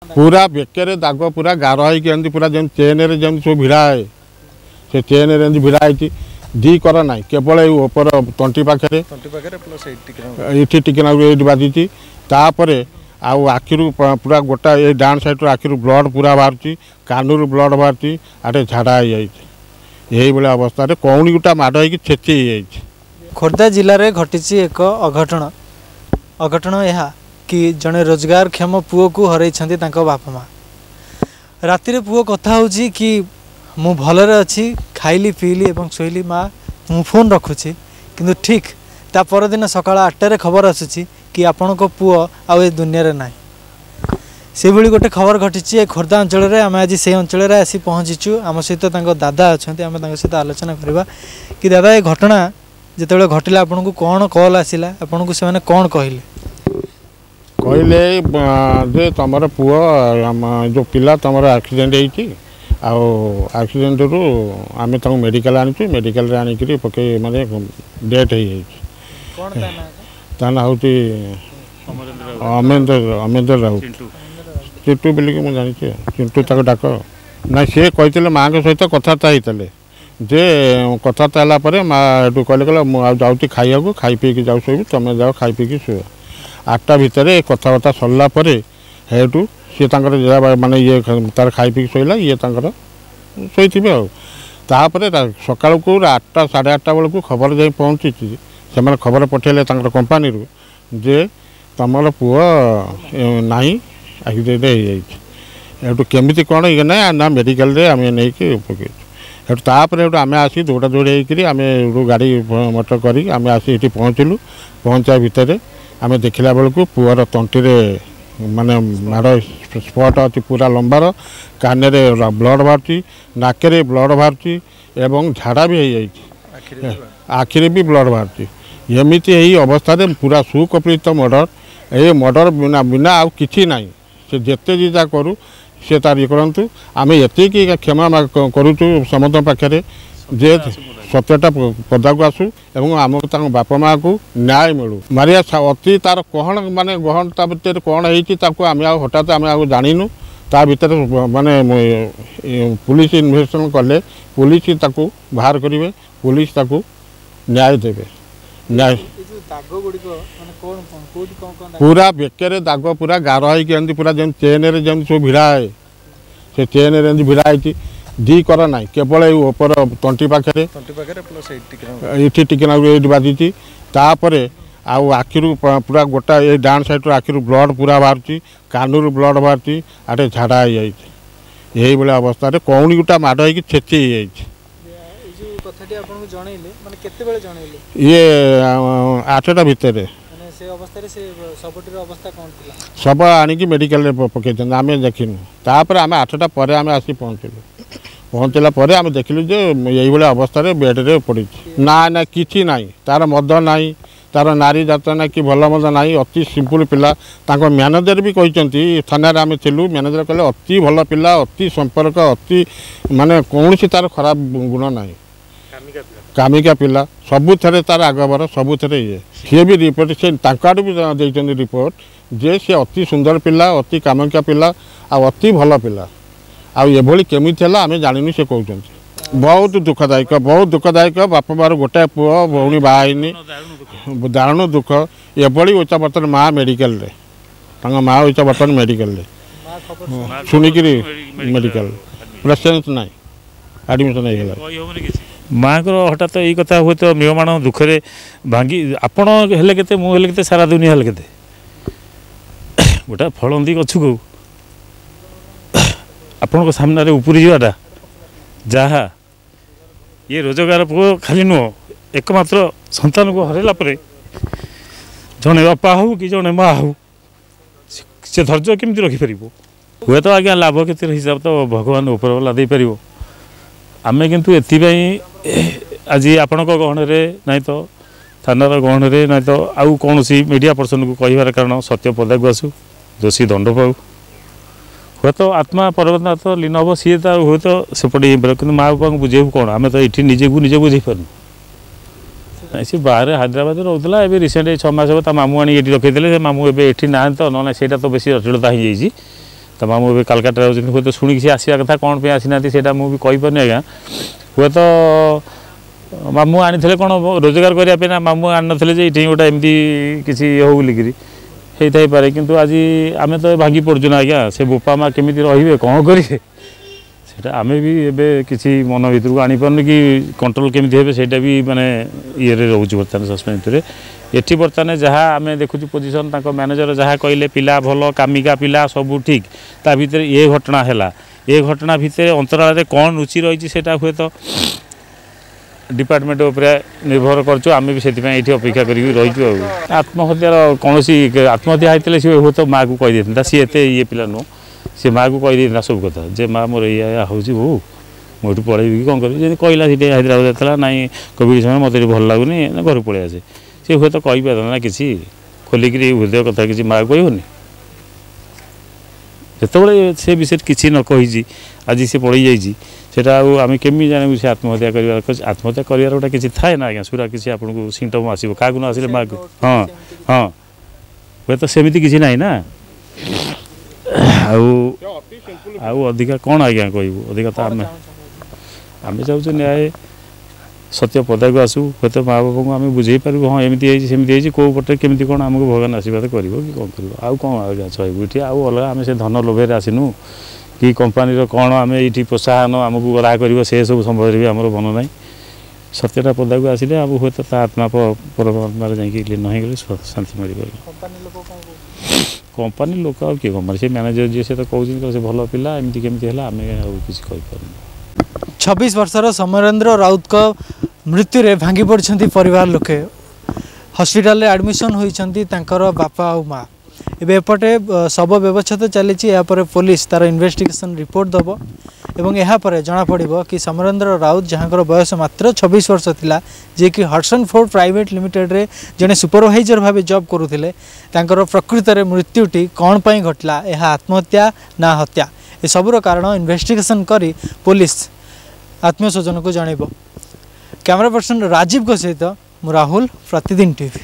ପୁରା ବେକରେ ଦାଗ, ପୁରା ଗାର ହେଇକି ଏମିତି ପୁରା ଯେମିତି ଚେନ୍ରେ ଯେମିତି ସବୁ ଭିଡ଼ା ହୁଏ, ସେ ଚେନ୍ରେ ଏମିତି ଭିଡ଼ା ହେଇଛି। ଦି କର ନାହିଁ, କେବଳ ଏଇ ଉପର ତଣ୍ଟି ପାଖରେ, ଏଇଠି ଟିକେ ନାକୁ ଏଇଠି ବାଜିଛି। ତାପରେ ଆଉ ଆଖିରୁ ପୁରା ଗୋଟା ଏଇ ଡାହାଣ ସାଇଡ଼ରୁ ଆଖିରୁ ବ୍ଲଡ଼ ପୁରା ବାହାରୁଛି, କାନରୁ ବ୍ଲଡ଼ ବାହାରୁଛି, ଆଡ଼େ ଝାଡ଼ା ହେଇଯାଇଛି। ଏଇଭଳିଆ ଅବସ୍ଥାରେ କଉଣି ଗୋଟା ମାଡ଼ ହେଇକି ଛେଚି ହେଇଯାଇଛି। ଖୋର୍ଦ୍ଧା ଜିଲ୍ଲାରେ ଘଟିଛି ଏକ ଅଘଟଣ। ଅଘଟଣ ଏହା କି ଜଣେ ରୋଜଗାରକ୍ଷମ ପୁଅକୁ ହରାଇଛନ୍ତି ତାଙ୍କ ବାପା ମା'। ରାତିରେ ପୁଅ କଥା ହେଉଛି କି ମୁଁ ଭଲରେ ଅଛି, ଖାଇଲି ପିଇଲି ଏବଂ ଶୋଇଲି ମା', ମୁଁ ଫୋନ୍ ରଖୁଛି। କିନ୍ତୁ ଠିକ୍ ତା ପରଦିନ ସକାଳ 8ଟାରେ ଖବର ଆସୁଛି କି ଆପଣଙ୍କ ପୁଅ ଆଉ ଏ ଦୁନିଆରେ ନାହିଁ। ସେଭଳି ଗୋଟେ ଖବର ଘଟିଛି ଏ ଖୋର୍ଦ୍ଧା ଅଞ୍ଚଳରେ। ଆମେ ଆଜି ସେଇ ଅଞ୍ଚଳରେ ଆସି ପହଞ୍ଚିଛୁ। ଆମ ସହିତ ତାଙ୍କ ଦାଦା ଅଛନ୍ତି, ଆମେ ତାଙ୍କ ସହିତ ଆଲୋଚନା କରିବା କି ଦାଦା, ଏ ଘଟଣା ଯେତେବେଳେ ଘଟିଲା ଆପଣଙ୍କୁ କ'ଣ କଲ୍ ଆସିଲା, ଆପଣଙ୍କୁ ସେମାନେ କ'ଣ କହିଲେ? କହିଲେ ଯେ ତୁମର ପୁଅ, ଯେଉଁ ପିଲା ତୁମର ଆକ୍ସିଡେଣ୍ଟ ହେଇଛି, ଆଉ ଆକ୍ସିଡେଣ୍ଟରୁ ଆମେ ତାଙ୍କୁ ମେଡ଼ିକାଲ ଆଣିଛୁ, ମେଡ଼ିକାଲରେ ଆଣିକିରି ପକେଇ ମାନେ ଡେଥ୍ ହେଇଯାଇଛି। ତା ନାଁ ହେଉଛି ଅମେନ୍ଦ୍ର ରାଉତ, ଚିଣ୍ଟୁ ବୋଲିକି ମୁଁ ଜାଣିଛି, ଚିଣ୍ଟୁ ତାକୁ ଡାକ। ନାଇଁ, ସିଏ କହିଥିଲେ ମାଆଙ୍କ ସହିତ କଥାବାର୍ତ୍ତା ହେଇଥିଲେ ଯେ କଥାବାର୍ତ୍ତା ହେଲା ପରେ ମା ଏଠୁ କହିଲେ, କହିଲେ ମୁଁ ଆଉ ଯାଉଛି ଖାଇବାକୁ, ଖାଇ ପିଇକି ଯାଉ ଶୋଇବି, ତୁମେ ଯାଅ ଖାଇ ପିଇକି ଶୋଇବ। 8ଟା ଭିତରେ କଥାବାର୍ତ୍ତା ସରିଲା ପରେ ସେଇଠୁ ସିଏ ତାଙ୍କର ମାନେ ଇଏ ତାର ଖାଇ ପିଇକି ଶୋଇଲା, ଇଏ ତାଙ୍କର ଶୋଇଥିବେ। ଆଉ ତାପରେ ସକାଳକୁ 8ଟା ସାଢ଼େ 8ଟା ବେଳକୁ ଖବର ଯାଇ ପହଞ୍ଚିଛି। ସେମାନେ ଖବର ପଠାଇଲେ ତାଙ୍କର କମ୍ପାନୀରୁ ଯେ ତୁମର ପୁଅ ନାହିଁ, ଆକ୍ସିଡେଣ୍ଟ ହେଇଯାଇଛି। ଏଠୁ କେମିତି କ'ଣ ଇଏ ନାହିଁ ନା ମେଡ଼ିକାଲରେ ଆମେ ନେଇକି ପକେଇଛୁ। ସେଠୁ ତାପରେ ସେଠୁ ଆମେ ଆସି ଦୌଡ଼ା ଦୌଡ଼ି ହେଇକରି ଆମେ ଏଠୁ ଗାଡ଼ି ମଟର କରିକି ଆମେ ଆସି ଏଠି ପହଞ୍ଚିଲୁ। ପହଞ୍ଚିବା ଭିତରେ ଆମେ ଦେଖିଲା ବେଳକୁ ପୁଅର ତଣ୍ଟିରେ ମାନେ ମାଡ଼ ସ୍ପଟ୍ ଅଛି ପୁରା ଲମ୍ବାର, କାନରେ ବ୍ଲଡ଼ ବାହାରୁଛି, ନାକରେ ବ୍ଲଡ଼ ବାହାରୁଛି ଏବଂ ଝାଡ଼ା ବି ହେଇଯାଇଛି, ଆଖିରେ ବି ବ୍ଲଡ଼ ବାହାରୁଛି। ଏମିତି ଏଇ ଅବସ୍ଥାରେ ପୁରା ସୁକପିତ ମର୍ଡ଼ର। ଏ ମର୍ଡ଼ର ବିନା ବିନା ଆଉ କିଛି ନାହିଁ। ସେ ଯେତେ ଯାହା କରୁ ସେ ତାର ଇଏ କରନ୍ତୁ, ଆମେ ଏତିକି କ୍ଷମା କରୁଛୁ ସମସ୍ତଙ୍କ ପାଖରେ ଯେ ସତ୍ୟଟା ପଦାକୁ ଆସୁ ଏବଂ ଆମକୁ ତାଙ୍କ ବାପା ମାଆକୁ ନ୍ୟାୟ ମିଳୁ। ମାରିଆ ଅତି ତାର କ'ଣ ମାନେ ଗହଣ ତା ଭିତରେ କ'ଣ ହେଇଛି ତାକୁ ଆମେ ଆଉ ହଠାତ୍ ଆମେ ଆଉ ଜାଣିନୁ। ତା ଭିତରେ ମାନେ ପୁଲିସ ଇନଭେଷ୍ଟିଗେସନ୍ କଲେ ପୁଲିସ ତାକୁ ବାହାର କରିବେ, ପୁଲିସ ତାକୁ ନ୍ୟାୟ ଦେବେ। ନ୍ୟାୟ ପୁରା ବେକରେ ଦାଗ, ପୁରା ଗାର ହେଇକି ଏମିତି ପୁରା ଯେମିତି ଚେନ୍ରେ ଯେମିତି ସବୁ ଭିଡ଼ା ହୁଏ, ସେ ଚେନ୍ରେ ଏମିତି ଭିଡ଼ା ହେଇଛି। ଦି କର ନାହିଁ, କେବଳ ଏଇ ଉପର ତଣ୍ଟି ପାଖରେ, ଏଇଠି ଟିକେ ନାକୁ ଏଇଠି ବାଜିଛି। ତାପରେ ଆଉ ଆଖିରୁ ପୁରା ଗୋଟା ଏଇ ଡାହାଣ ସାଇଡ଼ରୁ ଆଖିରୁ ବ୍ଲଡ଼ ପୁରା ବାହାରୁଛି, କାନରୁ ବ୍ଲଡ଼ ବାହାରୁଛି, ଆଡ଼େ ଝାଡ଼ା ହେଇଯାଇଛି। ଏଇଭଳିଆ ଅବସ୍ଥାରେ କଉଣି ଗୋଟା ମାଡ଼ ହେଇକି ଛେଚି ହେଇଯାଇଛି। ଇଏ 8ଟା ଭିତରେ ଶବ ଆଣିକି ମେଡ଼ିକାଲରେ ପକେଇଛନ୍ତି, ଆମେ ଦେଖିନୁ। ତାପରେ ଆମେ 8ଟା ପରେ ଆମେ ଆସି ପହଞ୍ଚିଲୁ। ପହଞ୍ଚିଲା ପରେ ଆମେ ଦେଖିଲୁ ଯେ ଏଇଭଳିଆ ଅବସ୍ଥାରେ ବେଡ଼ରେ ପଡ଼ିଛି। ନା ନା, କିଛି ନାହିଁ, ତାର ମଦ ନାହିଁ, ତାର ନାରୀ ଜାତ ନା କି ଭଲ ମନ୍ଦ ନାହିଁ। ଅତି ସିମ୍ପଲ୍ ପିଲା। ତାଙ୍କ ମ୍ୟାନେଜର ବି କହିଛନ୍ତି, ଥାନାରେ ଆମେ ଥିଲୁ, ମ୍ୟାନେଜର କହିଲେ ଅତି ଭଲ ପିଲା, ଅତି ସମ୍ପର୍କ, ଅତି ମାନେ କୌଣସି ତାର ଖରାପ ଗୁଣ ନାହିଁ, କାମିକା ପିଲା, ସବୁଥିରେ ତାର ଆଗଭର, ସବୁଥିରେ ଇଏ। ସିଏ ବି ରିପୋର୍ଟ ସେ ତାଙ୍କ ଆଡ଼ୁ ବି ଦେଇଛନ୍ତି ରିପୋର୍ଟ ଯେ ସେ ଅତି ସୁନ୍ଦର ପିଲା, ଅତି କାମିକା ପିଲା ଆଉ ଅତି ଭଲ ପିଲା। ଆଉ ଏଭଳି କେମିତି ହେଲା ଆମେ ଜାଣିନୁ, ସେ କହୁଛନ୍ତି। ବହୁତ ଦୁଃଖଦାୟକ, ବହୁତ ଦୁଃଖଦାୟକ। ବାପା ମାଆର ଗୋଟାଏ ପୁଅ, ଭଉଣୀ ବାହା ହେଇନି, ଦାରୁଣ ଦୁଃଖ। ଏଭଳି ଉଚ୍ଚ ବର୍ତ୍ତମାନ ମା ମେଡ଼ିକାଲରେ, ତାଙ୍କ ମା ଉଚ୍ଚ ବର୍ତ୍ତମାନ ମେଡ଼ିକାଲରେ, ଶୁଣିକିରି ମେଡ଼ିକାଲ ପୁରା ସେନ୍ସ ନାହିଁ, ଆଡ଼ମିସନ୍ ହେଇଗଲା ମାଆଙ୍କର। ହଠାତ୍ ଏଇ କଥା ହୁଏତ ମ୍ରିୟମାଣ ଦୁଃଖରେ ଭାଙ୍ଗି, ଆପଣ ହେଲେ କେତେ, ମୁଁ ହେଲେ କେତେ, ସାରା ଦୁନିଆ ହେଲେ କେତେ। ଗୋଟେ ଫଳନ୍ତି ଗଛକୁ ଆପଣଙ୍କ ସାମ୍ନାରେ ଉପୁରି ଯିବାଟା ଯାହା, ଇଏ ରୋଜଗାର ପୁଅ ଖାଲି ନୁହଁ, ଏକମାତ୍ର ସନ୍ତାନକୁ ହରାଇଲା ପରେ ଜଣେ ବାପା ହଉ କି ଜଣେ ମା ହଉ, ସେ ଧୈର୍ଯ୍ୟ କେମିତି ରଖିପାରିବ? ହୁଏତ ଆଜ୍ଞା ଲାଭ କ୍ଷତିର ହିସାବ ତ ଭଗବାନ ଉପରବାଲା ଦେଇପାରିବ। ଆମେ କିନ୍ତୁ ଏଥିପାଇଁ ଆଜି ଆପଣଙ୍କ ଗହଣରେ ନାଇଁ ତ ଥାନାର ଗହଣରେ ନାଇଁ ତ ଆଉ କୌଣସି ମିଡ଼ିଆ ପର୍ସନକୁ କହିବାର କାରଣ ସତ୍ୟ ପଦାକୁ ଆସୁ, ଦୋଷୀ ଦଣ୍ଡ ପାଉ। ହୁଏତ ଆତ୍ମା ପରମାତ୍ମା ତ ଲୀନ ହେବ, ସିଏ ତ ହୁଏତ ସେପଟେ ହେଇପାରିବ, କିନ୍ତୁ ମା ବାପାଙ୍କୁ ବୁଝେଇବୁ କ'ଣ? ଆମେ ତ ଏଠି ନିଜକୁ ନିଜେ ବୁଝେଇ ପାରୁନୁ। ସେ ବାହାରେ ହାଇଦ୍ରାବାଦରେ ରହୁଥିଲା। ଏବେ ରିସେଣ୍ଟ 6 ମାସ ହେବ ତା ମାମୁଁ ଆଣି ଏଠି ରଖିଥିଲେ। ସେ ମାମୁଁ ଏବେ ଏଠି ନାହାନ୍ତି ତ, ନହେଲେ ସେଇଟା ତ ବେଶୀ ଜଟିଳତା ହେଇଯାଇଛି। ତା ମାମୁଁ ଏବେ କାଲକାଟାରେ ରହୁଛନ୍ତି, ହୁଏତ ଶୁଣିକି ସେ ଆସିବା କଥା, କ'ଣ ପାଇଁ ଆସିନାହାନ୍ତି ସେଇଟା ମୁଁ ବି କହିପାରୁନି ଆଜ୍ଞା। ହୁଏତ ମାମୁଁ ଆଣିଥିଲେ କ'ଣ ରୋଜଗାର କରିବା ପାଇଁ, ନା ମାମୁଁ ଆଣିନଥିଲେ ଯେ ଏଇଠି ଗୋଟେ ଏମିତି କିଛି ହଉ ବୋଲିକିରି ହେଇଥାଇପାରେ। କିନ୍ତୁ ଆଜି ଆମେ ତ ଭାଙ୍ଗି ପଡ଼ୁଛୁ ନା ଆଜ୍ଞା, ସେ ବୋପା ମା କେମିତି ରହିବେ କ'ଣ କରିବେ ସେଇଟା ଆମେ ବି ଏବେ କିଛି ମନ ଭିତରକୁ ଆଣିପାରୁନୁ କି କଣ୍ଟ୍ରୋଲ୍ କେମିତି ହେବେ ସେଇଟା ବି ମାନେ ଇଏରେ ରହୁଛୁ ବର୍ତ୍ତମାନ ସସ୍ପେନ୍ସ ଭିତରେ। ଏଠି ବର୍ତ୍ତମାନ ଯାହା ଆମେ ଦେଖୁଛୁ ପୋଜିସନ୍, ତାଙ୍କ ମ୍ୟାନେଜର ଯାହା କହିଲେ ପିଲା ଭଲ, କାମିକା ପିଲା, ସବୁ ଠିକ୍, ତା ଭିତରେ ଏ ଘଟଣା ହେଲା। ଏ ଘଟଣା ଭିତରେ ଅନ୍ତରାଳରେ କ'ଣ ଲୁଚି ରହିଛି ସେଇଟା ହୁଏତ ଡିପାର୍ଟମେଣ୍ଟ ଉପରେ ନିର୍ଭର କରୁଛୁ। ଆମେ ବି ସେଥିପାଇଁ ଏଇଠି ଅପେକ୍ଷା କରିକି ରହିଛୁ। ଆଉ ଆତ୍ମହତ୍ୟାର କୌଣସି ଆତ୍ମହତ୍ୟା ହେଇଥିଲେ ସିଏ ହୁଏତ ମାଆକୁ କହିଦେଇଥାନ୍ତା, ସିଏ ଏତେ ଇଏ ପିଲା ନୁହଁ, ସେ ମାଆକୁ କହିଦେଇଥାନ୍ତା ସବୁ କଥା ଯେ ମା ମୋର ଏଇଆ ଏଇଆ ହେଉଛି ବୋଉ, ମୁଁ ଏଠୁ ପଳେଇବି କି କ'ଣ କରିବି। ଯେମିତି କହିଲା ସେଠି ହାଇଦ୍ରାବାଦ ଥିଲା, ନାଇଁ କୋଭିଡ଼ ସମୟରେ ମୋତେ ଏଠି ଭଲ ଲାଗୁନି, ଘରକୁ ପଳେଇ ଆସେ, ସେ ହୁଏତ କହିପାରିଥାନ୍ତା ନା କିଛି ଖୋଲିକିରି ହୃଦୟ କଥା କିଛି ମାଆକୁ କହିବନି। ଯେତେବେଳେ ସେ ବିଷୟରେ କିଛି ନ କହିଛି, ଆଜି ସେ ପଳେଇ ଯାଇଛି, ସେଇଟା ଆଉ ଆମେ କେମିତି ଜାଣିବୁ ସେ ଆତ୍ମହତ୍ୟା କରିବାର? ଆତ୍ମହତ୍ୟା କରିବାର ଗୋଟେ କିଛି ଥାଏ ନା ଆଜ୍ଞା, ସୁରା କିଛି ଆପଣଙ୍କୁ ସିମ୍ପଟମ୍ ଆସିବ, କାହାକୁ ନ ଆସିଲେ ମାଆକୁ। ହଁ ହଁ, ହୁଏତ ସେମିତି କିଛି ନାହିଁ ନା। ଆଉ ଆଉ ଅଧିକା କ'ଣ ଆଜ୍ଞା କହିବୁ, ଅଧିକା ତ ଆମେ ଆମେ ଚାହୁଁଛୁ ନ୍ୟାୟ ସତ୍ୟ ପଦାକୁ ଆସୁ, ହୁଏତ ମା ବାପାଙ୍କୁ ଆମେ ବୁଝେଇ ପାରିବୁ, ହଁ ଏମିତି ହେଇଛି ସେମିତି ହେଇଛି, କେଉଁ ପଟେ କେମିତି କ'ଣ ଆମକୁ ଭଗବାନ ଆଶୀର୍ବାଦ କରିବ କି କ'ଣ କରିବ। ଆଉ କ'ଣ ଆଜ୍ଞା ଚାହିଁବୁ ଏଠି? ଆଉ ଅଲଗା ଆମେ ସେ ଧନ ଲୋଭରେ ଆସିନୁ କି କମ୍ପାନୀର କ'ଣ ଆମେ ଏଇଠି ପ୍ରୋତ୍ସାହନ ଆମକୁ ଗରା କରିବ ସେ ସବୁ ସମ୍ବନ୍ଧରେ ବି ଆମର ମନ ନାହିଁ। ସତ୍ୟଟା ପଦାକୁ ଆସିଲେ ଆଉ ହୁଏତ ତା ଆତ୍ମା ପରମାତ୍ମାରେ ଯାଇକି ଲୀନ ହେଇଗଲେ ଶାନ୍ତି ମିଳିବ। କମ୍ପାନୀ ଲୋକ ଆଉ କିଏ କମ୍ପାନୀ ସେ ମ୍ୟାନେଜର ଯିଏ ସେ ତ କହୁଛନ୍ତି ସେ ଭଲ ପିଲା, ଏମିତି କେମିତି ହେଲା ଆମେ ଆଉ କିଛି କହିପାରୁନୁ। 26 ବର୍ଷର ସମରେନ୍ଦ୍ର ରାଉତଙ୍କ ମୃତ୍ୟୁରେ ଭାଙ୍ଗି ପଡ଼ିଛନ୍ତି ପରିବାର ଲୋକେ। ହସ୍ପିଟାଲରେ ଆଡ଼ମିସନ୍ ହୋଇଛନ୍ତି ତାଙ୍କର ବାପା ଆଉ ମା। ଏବେ ଏପଟେ ଶବ ବ୍ୟବଚ୍ଛେଦ ଚାଲିଛି। ଏହାପରେ ପୋଲିସ ତାର ଇନଭେଷ୍ଟିଗେସନ୍ ରିପୋର୍ଟ ଦେବ ଏବଂ ଏହାପରେ ଜଣାପଡ଼ିବ କି ସମରେନ୍ଦ୍ର ରାଉତ, ଯାହାଙ୍କର ବୟସ ମାତ୍ର 26 ବର୍ଷ ଥିଲା, ଯିଏକି ହଡସନ୍ ଫୋର୍ଡ ପ୍ରାଇଭେଟ୍ ଲିମିଟେଡ଼ରେ ଜଣେ ସୁପରଭାଇଜର ଭାବେ ଜବ୍ କରୁଥିଲେ, ତାଙ୍କର ପ୍ରକୃତରେ ମୃତ୍ୟୁଟି କ'ଣ ପାଇଁ ଘଟିଲା, ଏହା ଆତ୍ମହତ୍ୟା ନା ହତ୍ୟା, ଏସବୁର କାରଣ ଇନଭେଷ୍ଟିଗେସନ୍ କରି ପୋଲିସ ଆତ୍ମୀୟ ସ୍ୱଜନକୁ ଜଣାଇବ। କ୍ୟାମେରା ପର୍ସନ ରାଜୀବଙ୍କ ସହିତ ମୁଁ ରାହୁଲ, ପ୍ରତିଦିନ ଟିଭି।